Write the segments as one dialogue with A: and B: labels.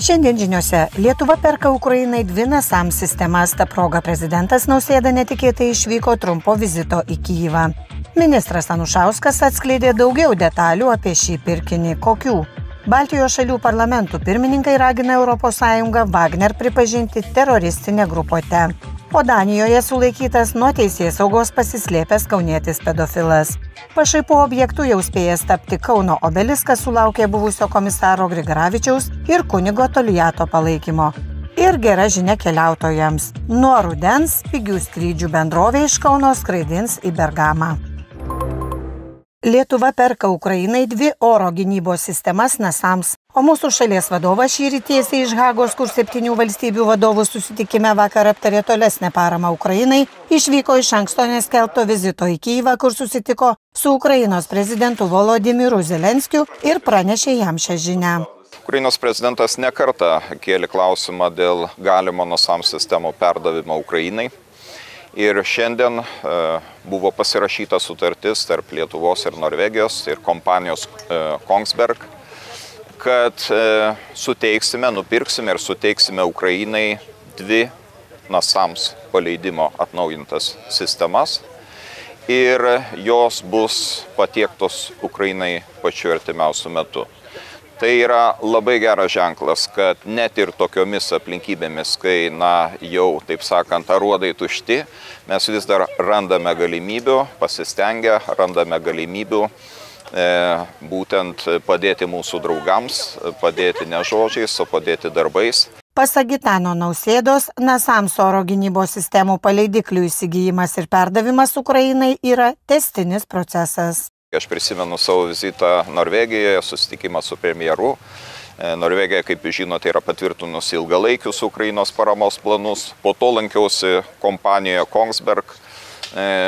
A: Šiandien žiniose Lietuva perka Ukrainai 2 NASAMS sistemas, ta proga prezidentas Nausėda netikėtai išvyko trumpo vizito į Kyjivą. Ministras Anušauskas atskleidė daugiau detalių apie šį pirkinį. Kokių? Baltijos šalių parlamentų pirmininkai ragina ES Wagner pripažinti teroristinę grupuotę. O Danijoje sulaikytas nuo teisėsaugos pasislėpęs kaunietis pedofilas. Pašaipų objektų jau spėjęs tapti Kauno obeliskas sulaukė buvusio komisaro Grigaravičiaus ir kunigo Toliato palaikymo. Ir gera žinia keliautojams. Nuo rudens pigių skrydžių bendrovė iš Kauno skraidins į Bergamą. Lietuva perka Ukrainai 2 oro gynybos sistemas NASAMS, o mūsų šalies vadovas šįryt tiesiai iš Hagos, kur 7 valstybių vadovų susitikime vakar aptarė tolesnę paramą Ukrainai, išvyko iš anksto neskelbto vizito į Kyjivą, kur susitiko su Ukrainos prezidentu Volodymyru Zelenskiu ir pranešė jam šią žinią.
B: Ukrainos prezidentas nekartą kėlė klausimą dėl galimo NASAMS sistemų perdavimo Ukrainai. Ir šiandien buvo pasirašyta sutartis tarp Lietuvos ir Norvegijos ir kompanijos Kongsberg, kad nupirksime ir suteiksime Ukrainai 2 NASAMS paleidimo atnaujintas sistemas ir jos bus patiektos Ukrainai pačiu artimiausiu metu. Tai yra labai geras ženklas, kad net ir tokiomis aplinkybėmis, kai, jau, taip sakant, aruodai tušti, mes vis dar randame galimybių, pasistengę, randame galimybių būtent padėti mūsų draugams, padėti ne žodžiais, o padėti darbais.
A: Pasak Gitano Nausėdos, NASAMS oro gynybos sistemų paleidiklių įsigijimas ir perdavimas Ukrainai yra tęstinis procesas.
B: Aš prisimenu savo vizitą Norvegijoje, susitikimą su premjeru. Norvegija, kaip žinote, yra patvirtinusi ilgalaikius Ukrainos paramos planus. Po to lankiausi kompanijoje Kongsberg,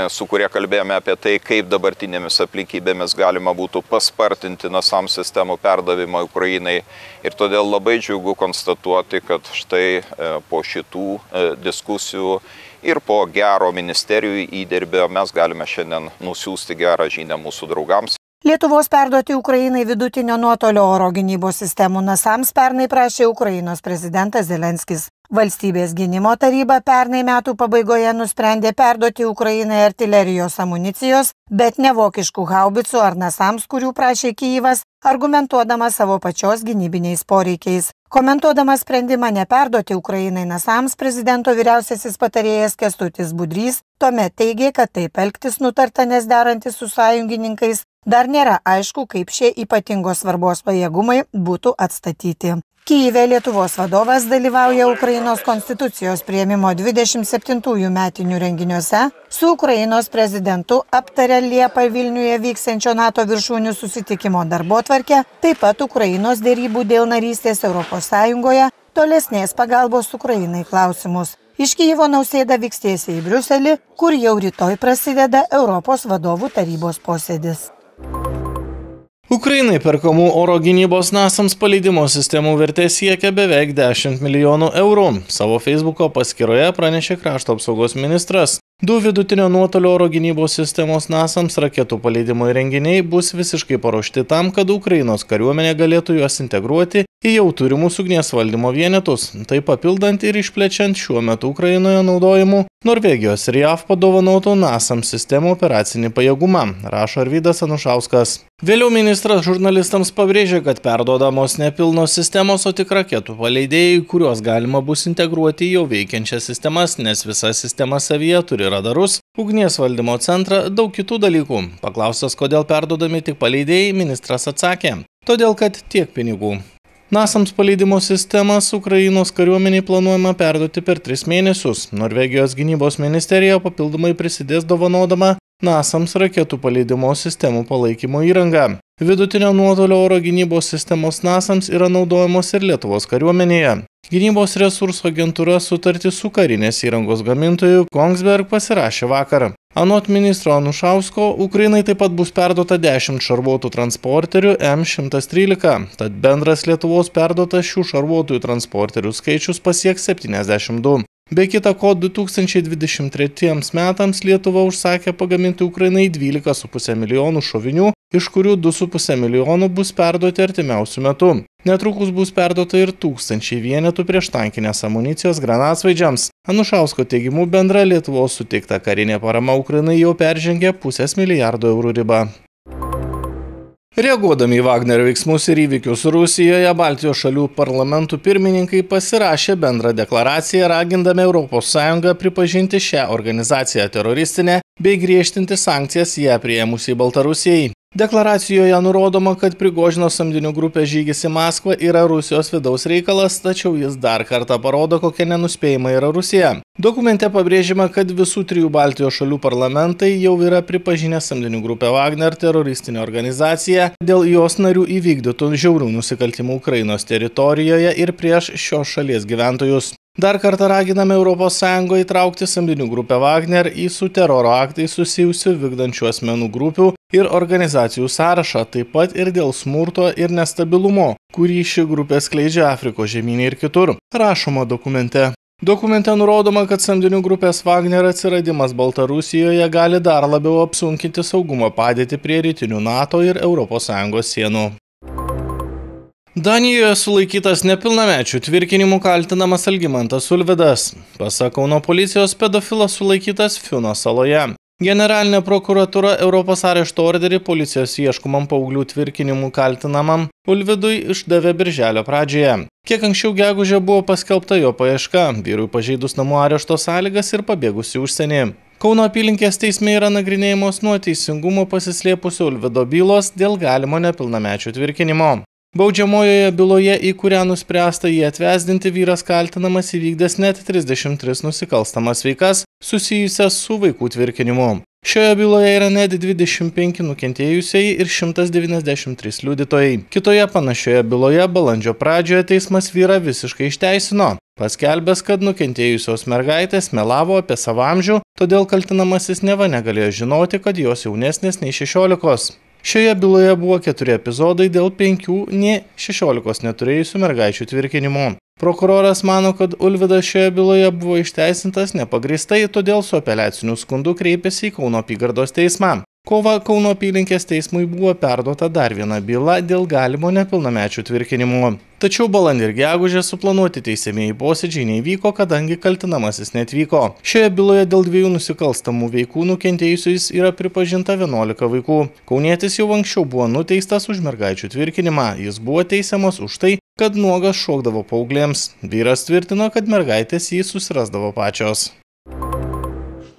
B: su kuria kalbėjome apie tai, kaip dabartinėmis aplinkybėmis galima būtų paspartinti NASAMS sistemų perdavimą Ukrainai. Ir todėl labai džiugu konstatuoti, kad štai po šitų diskusijų ir po gero ministerijų įdirbio mes galime šiandien nusiųsti gerą žinią mūsų draugams.
A: Lietuvos perduoti Ukrainai vidutinio nuotolio oro gynybos sistemų NASAMS pernai prašė Ukrainos prezidentas Zelenskis. Valstybės gynimo taryba pernai metų pabaigoje nusprendė perduoti Ukrainai artilerijos amunicijos, bet ne vokiškų haubicų ar NASAMS, kurių prašė Kyjivas, argumentuodama savo pačios gynybiniais poreikiais. Komentuodamas sprendimą neperduoti Ukrainai NASAMS, prezidento vyriausiasis patarėjas Kęstutis Budrys tuomet teigė, kad taip elgtis nutarta, nes derantis su sąjungininkais dar nėra aišku, kaip šie ypatingos svarbos pajėgumai būtų atstatyti. Kyjive Lietuvos vadovas dalyvauja Ukrainos konstitucijos priėmimo 27 metinių renginiuose, su Ukrainos prezidentu aptarė Liepą Vilniuje vyksiančio NATO viršūnių susitikimo darbotvarkę, taip pat Ukrainos derybų dėl narystės ES, tolesnės pagalbos Ukrainai klausimus. Iš Kyjivo Nausėda vyks tiesiai į Briuselį, kur jau rytoj prasideda Europos vadovų tarybos posėdis.
C: Ukrainai perkamų oro gynybos NASAMS paleidimo sistemų vertė siekia beveik 10 milijonų eurų. Savo Facebooko paskyroje pranešė krašto apsaugos ministras. 2 vidutinio nuotolio oro gynybos sistemos NASAMS raketų paleidimo įrenginiai bus visiškai paruošti tam, kad Ukrainos kariuomenė galėtų juos integruoti į jau turimus ugnies valdymo vienetus, tai papildant ir išplečiant šiuo metu Ukrainoje naudojimų Norvegijos ir JAV padovanotų NASAMS sistemų operacinį pajėgumą, rašo Arvydas Anušauskas. Vėliau ministras žurnalistams pabrėžė, kad perduodamos nepilnos sistemos, o tik raketų paleidėjai, kuriuos galima bus integruoti į jau veikiančias sistemas, nes visa sistema savyje turi radarus, ugnies valdymo centrą, daug kitų dalykų. Paklaustas, kodėl perduodami tik paleidėjai, ministras atsakė, todėl kad tiek pinigų. NASAMS paleidimo sistemas Ukrainos kariuomeniai planuojama perduoti per 3 mėnesius. Norvegijos gynybos ministerija papildomai prisidės dovanodama NASAMS raketų paleidimo sistemų palaikymo įrangą. Vidutinio nuotolio oro gynybos sistemos NASAMS yra naudojamos ir Lietuvos kariuomenėje. Gynybos resursų agentūra sutartį su karinės įrangos gamintoju Kongsberg pasirašė vakar. Anot ministro Anušausko, Ukrainai taip pat bus perduota 10 šarvuotų transporterių M113, tad bendras Lietuvos perduotas šių šarvuotųjų transporterių skaičius pasieks 72. Be kita ko, 2023 metams Lietuva užsakė pagaminti Ukrainai 12,5 milijonų šovinių, iš kurių 2,5 milijonų bus perduoti artimiausių metų. Netrukus bus perduota ir 1000 vienetų prieštankinės amunicijos granatsvaidžiams. Anušausko teigimu bendra Lietuvos suteikta karinė parama Ukrainai jau peržengė $500 milijardo ribą. Reaguodami į Wagner veiksmus ir įvykius Rusijoje, Baltijos šalių parlamentų pirmininkai pasirašė bendrą deklaraciją ragindami ES pripažinti šią organizaciją teroristinę bei griežtinti sankcijas ją priėmusiai Baltarusijai. Deklaracijoje nurodoma, kad Prigožino samdinių grupės žygis į Maskvą yra Rusijos vidaus reikalas, tačiau jis dar kartą parodo, kokia nenuspėjama yra Rusija. Dokumente pabrėžima, kad visų 3 Baltijos šalių parlamentai jau yra pripažinę samdinių grupę Wagner teroristinę organizaciją dėl jos narių įvykdytų žiaurių nusikaltimų Ukrainos teritorijoje ir prieš šios šalies gyventojus. Dar kartą raginame ES įtraukti samdinių grupę Wagner į su teroro aktais susijusių vykdančių asmenų grupių ir organizacijų sąrašą, taip pat ir dėl smurto ir nestabilumo, kurį ši grupė skleidžia Afrikos žemyne ir kitur, rašoma dokumente. Dokumente nurodoma, kad samdinių grupės Wagner atsiradimas Baltarusijoje gali dar labiau apsunkinti saugumo padėtį prie rytinių NATO ir ES sienų. Danijoje sulaikytas nepilnamečių tvirkinimu kaltinamas Algimantas Ulvydas. Pasak Kauno policijos, pedofilas sulaikytas Fiuno saloje. Generalinė prokuratūra Europos arešto orderį policijos ieškomam paauglių tvirkinimu kaltinamam Ulvydui išdavė birželio pradžioje. Kiek anksčiau gegužę buvo paskelbta jo paieška, vyrui pažeidus namų arešto sąlygas ir pabėgus į užsienį. Kauno apylinkės teisme yra nagrinėjamos nuo teisingumo pasislėpusio Ulvydo bylos dėl galimo nepilnamečių tvirkinimo. Baudžiamojoje byloje, į kurią nuspręsta jį atvesdinti, vyras kaltinamas įvykdęs net 33 nusikalstamas veikas susijusias su vaikų tvirkinimu. Šioje byloje yra net 25 nukentėjusieji ir 193 liudytojai. Kitoje panašioje byloje balandžio pradžioje teismas vyrą visiškai išteisino, paskelbęs, kad nukentėjusios mergaitės melavo apie savo amžių, todėl kaltinamasis neva negalėjo žinoti, kad jos jaunesnės nei 16. Šioje byloje buvo 4 epizodai dėl 5 nei 16 neturėjusių mergaičių tvirkinimo. Prokuroras mano, kad Ulvydas šioje byloje buvo išteisintas nepagrįstai, todėl su apeliaciniu skundu kreipėsi į Kauno apygardos teismą. Kovą Kauno apylinkės teismui buvo perduota dar viena byla dėl galimo nepilnamečių tvirkinimo. Tačiau balandį ir gegužę suplanuoti teisiamieji posėdžiai neįvyko, kadangi kaltinamasis neatvyko. Šioje byloje dėl 2 nusikalstamų veikų nukentėjusiais yra pripažinta 11 vaikų. Kaunietis jau anksčiau buvo nuteistas už mergaičių tvirkinimą. Jis buvo teisiamas už tai, kad nuogas šokdavo paauglėms. Vyras tvirtino, kad mergaitės jį susirasdavo pačios.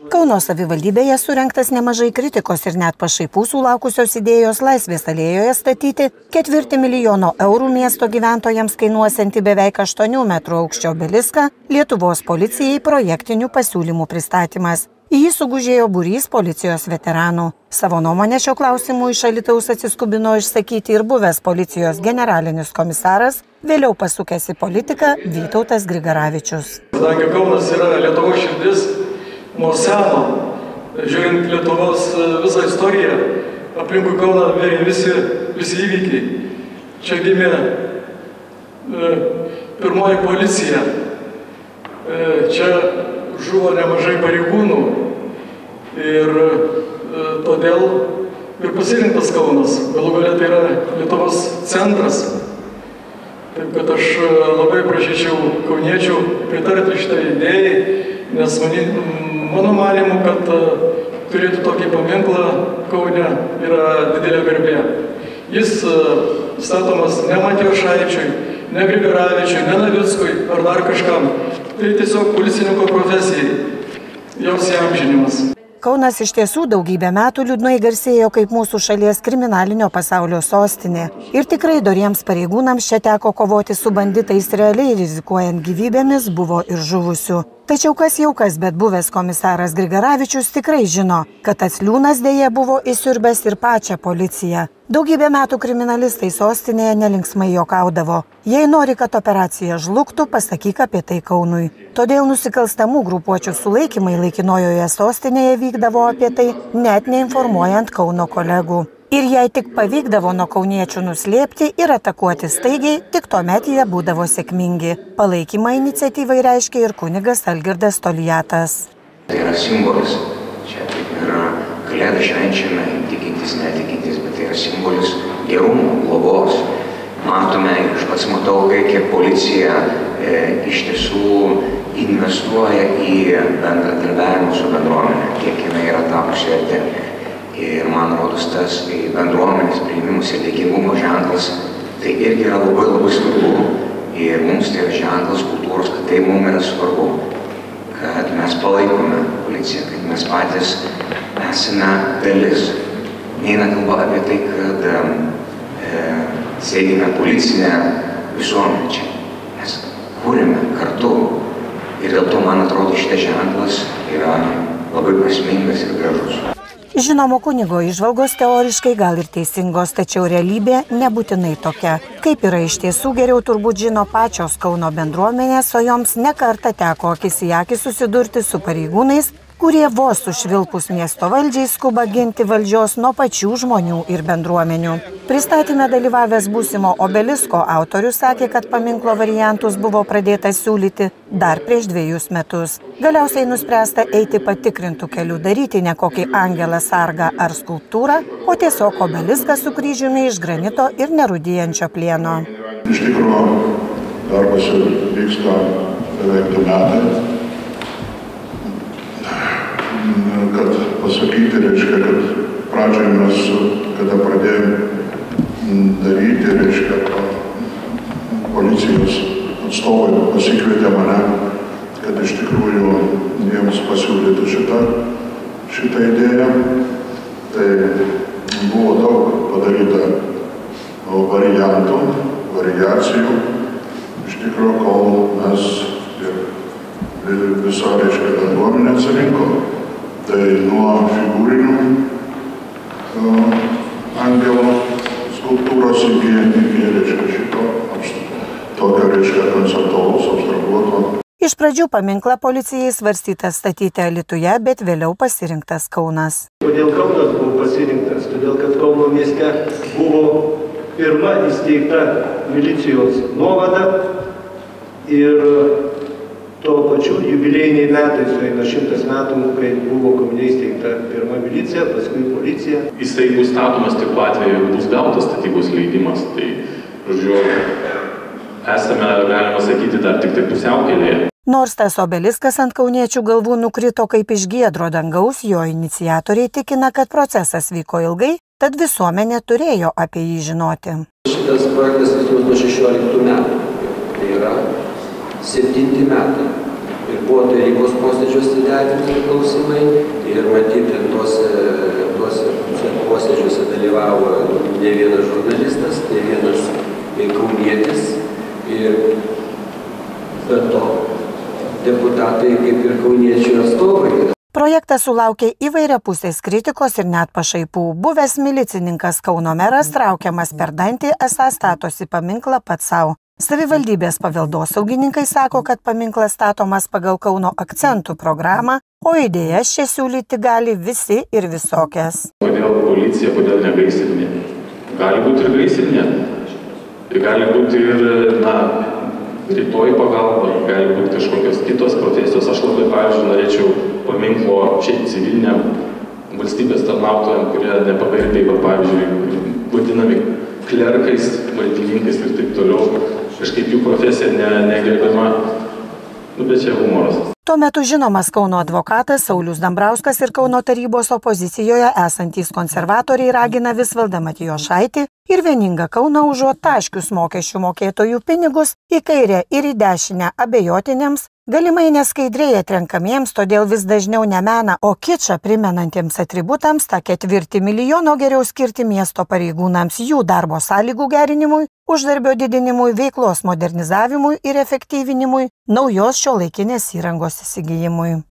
A: Kauno savivaldybėje surengtas nemažai kritikos ir net pašaipų sulaukusios idėjos Laisvės alėjoje statyti 4 milijono eurų miesto gyventojams kainuosianti beveik 8 metrų aukščio obeliską Lietuvos policijai projektinių pasiūlymų pristatymas. Į jį sugužėjo būrys policijos veteranų. Savo nuomonę šio klausimu iš Alytaus atsiskubino išsakyti ir buvęs policijos generalinis komisaras, vėliau pasukęs į politiką Vytautas Grigaravičius.
D: Kadangi Kaunas yra Lietuvos širdis, nuo seno, žiūrint Lietuvos visą istoriją, aplinkui Kauną vėrė visi įvykiai. Čia gimė pirmoji policija, čia žuvo nemažai pareigūnų ir todėl ir pasirinktas Kaunas. Galų galia tai yra Lietuvos centras. Taip kad aš labai prašyčiau kauniečių pritarti šitai idėjai, nes mano manymu, kad turėti tokį paminklą Kaune yra didelė garbė. Jis statomas ne Matijošaičiui, ne Grigaravičiui, ne Navickui ar dar kažkam. Tai tiesiog policininko profesijai, jos įamžinimas.
A: Kaunas iš tiesų daugybę metų liūdnai garsėjo kaip mūsų šalies kriminalinio pasaulio sostinė. Ir tikrai doriems pareigūnams čia teko kovoti su banditais, realiai rizikuojant gyvybėmis buvo ir žuvusių. Tačiau kas jau kas, bet buvęs komisaras Grigaravičius tikrai žino, kad tas liūnas dėja buvo įsiurbęs ir pačią policiją. Daugybę metų kriminalistai sostinėje nelinksmai juokaudavo. Jei nori, kad operacija žlugtų, pasakyk apie tai Kaunui. Todėl nusikalstamų grupuočių sulaikymai laikinojoje sostinėje vykdavo apie tai, net neinformuojant Kauno kolegų. Ir jei tik pavykdavo nuo kauniečių nuslėpti ir atakuoti staigiai, tik tuomet jie būdavo sėkmingi. Palaikymą iniciatyvai reiškia ir kunigas Algirdas Toliatas.
E: Tai yra simbolis. Čia yra kalėdų švenčiame, tikintis, netikintis, bet tai yra simbolis gerumo, globos. matome, aš pats matau, kiek policija iš tiesų investuoja į bendradarbiavimą su bendruomenė, kiek jinai yra tapusi artesnė. Ir man rodos tas bendruomenės priėmimas ir dėkingumo ženklas, tai irgi yra labai svarbu. Ir mums tai yra ženklas kultūros, kad tai mums yra svarbu, kad mes palaikome policiją, kad mes patys esame dalis. Neina kalba apie tai, kad sėdime policinę visuomenę čia. Mes kūrėme kartu. Ir dėl to, man atrodo, šitas ženklas yra labai prasmingas ir gražus.
A: Žinomo kunigo įžvalgos teoriškai gal ir teisingos, tačiau realybė nebūtinai tokia. Kaip yra iš tiesų, geriau turbūt žino pačios Kauno bendruomenės, o joms ne kartą teko akis į akį susidurti su pareigūnais, kurie vos užvilkus miesto valdžiai skuba ginti valdžios nuo pačių žmonių ir bendruomenių. Pristatyme dalyvavęs būsimo obelisko autorius sakė, kad paminklo variantus buvo pradėta siūlyti dar prieš 2 metus. Galiausiai nuspręsta eiti patikrintų kelių, daryti ne kokį angelą sargą ar skulptūrą, o tiesiog obeliską su kryžiumi iš granito ir nerūdijančio plieno.
F: Iš tikrųjų, darbas vyksta beveik 2 metai. Kad pasakyti, reiškia, kad pradžioje mes, kada pradėjome daryti, reiškia, policijos atstovai pasikvietė mane, kad iš tikrųjų jiems pasiūlyti šitą idėją. Tai buvo daug padaryta variantų, variacijų, iš tikrųjų, kol mes ir viso, reiškia, bendruomenė atsirinko. Tai nuo figūrinių angelo skulptūros iki reiškia šito tokio, reiškia, konceptualaus, abstrahuoto.
A: Iš pradžių paminklą policijai svarstytas statyti Alytuje, bet vėliau pasirinktas Kaunas.
G: Kodėl Kaunas buvo pasirinktas? Todėl, kad Kauno mieste buvo pirma įsteigta milicijos nuovada ir tuo pačiu jubiliejiniai metai sueina 100 metų, kai buvo Kaune įsteigta pirma milicija, paskui policija.
H: Jisai bus statomas tik tuo atveju, bus gautas statybos leidimas. Tai, žodžiu, esame, galima sakyti, dar tik pusiaukelėje.
A: Nors tas obeliskas ant kauniečių galvų nukrito kaip iš giedro dangaus, jo iniciatoriai tikina, kad procesas vyko ilgai, tad visuomenė turėjo apie jį žinoti.
I: Šitas projektas vystomas nuo 16 metų. Tai yra 7 metai. Ir buvo tarybos posėdžiuose derinami klausimai ir matyti tuose posėdžiuose dalyvavo ne vienas žurnalistas, ne vienas kaunietis ir be to deputatai kaip ir kauniečių atstovai.
A: Projektas sulaukė įvairiapusės kritikos ir net pašaipų. Buvęs milicininkas Kauno meras traukiamas per dantį, esą statosi paminklą pats savo. Savivaldybės paveldosaugininkai sako, kad paminklas statomas pagal Kauno akcentų programą, o idėjas čia siūlyti gali visi ir visokias.
H: Kodėl policija, kodėl ne gaisrinė? Gali būti ir gaisrinė. Gali būti ir, rytoj pagalba, gali būti kažkokios kitos profesijos. Aš labai, pavyzdžiui, norėčiau paminklo šiaip civiliniam valstybės tarnautojam, kurie nepagarbiai, pavyzdžiui, vadinami klerkais, valdininkais ir taip toliau. Kažkaip jų profesija negerbiama, bet čia humoras.
A: Tuo metu žinomas Kauno advokatas Saulius Dambrauskas ir Kauno tarybos opozicijoje esantys konservatoriai ragina Visvaldą Matijošaitį ir vieningą Kauną užuot taškius mokesčių mokėtojų pinigus į kairę ir į dešinę abejotiniams, galimai neskaidriai atrenkamiems, todėl vis dažniau ne meną, o kičą primenantiems atributams tą 4 milijono geriau skirti miesto pareigūnams jų darbo sąlygų gerinimui, uždarbio didinimui, veiklos modernizavimui ir efektyvinimui, naujos šiuolaikinės įrangos įsigijimui.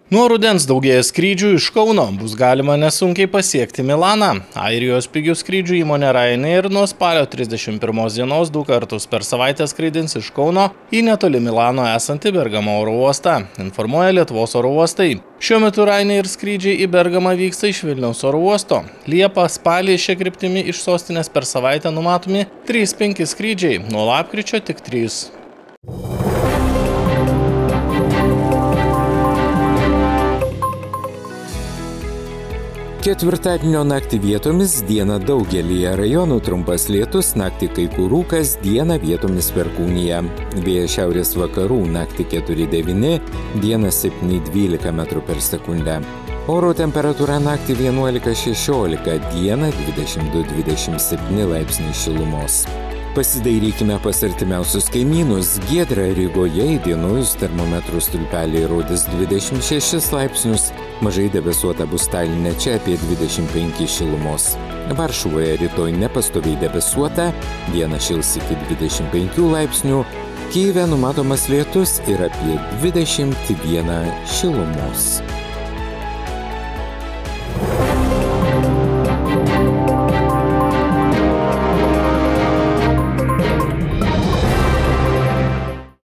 C: Nuo rudens daugėja skrydžių iš Kauno, bus galima nesunkiai pasiekti Milaną. Airijos pigių skrydžių įmonė Ryanair nuo spalio 31 dienos 2 kartus per savaitę skraidins iš Kauno į netoli Milano esantį Bergamo oro uostą, informuoja Lietuvos oro uostai. Šiuo metu Ryanair skrydžiai į Bergamą vyksta iš Vilniaus oro uosto. Liepą, spalį šia kryptimi iš sostinės per savaitę numatomi 3-5 skrydžiai, nuo lapkričio tik 3.
J: Ketvirtadienio naktį vietomis, dieną daugelyje rajonų trumpas lietus, naktį kai kur rūkas, dieną vietomis perkūnija. Vėjas šiaurės vakarų, naktį 4-9, dieną 7-12 m/s. Oro temperatūra naktį 11-16, dieną 22-27 laipsniai šilumos. Pasidairykime pas artimiausius kaimynus. Giedra Rygoje įdienojus termometrų stulpeliai rodys 26 laipsnius, mažai debesuota bus Taline, čia apie 25 šilumos. Varšuvoje rytoj nepastoviai debesuota, dieną šils iki 25 laipsnių, Kyjive numatomas lietus ir apie 21 šilumos.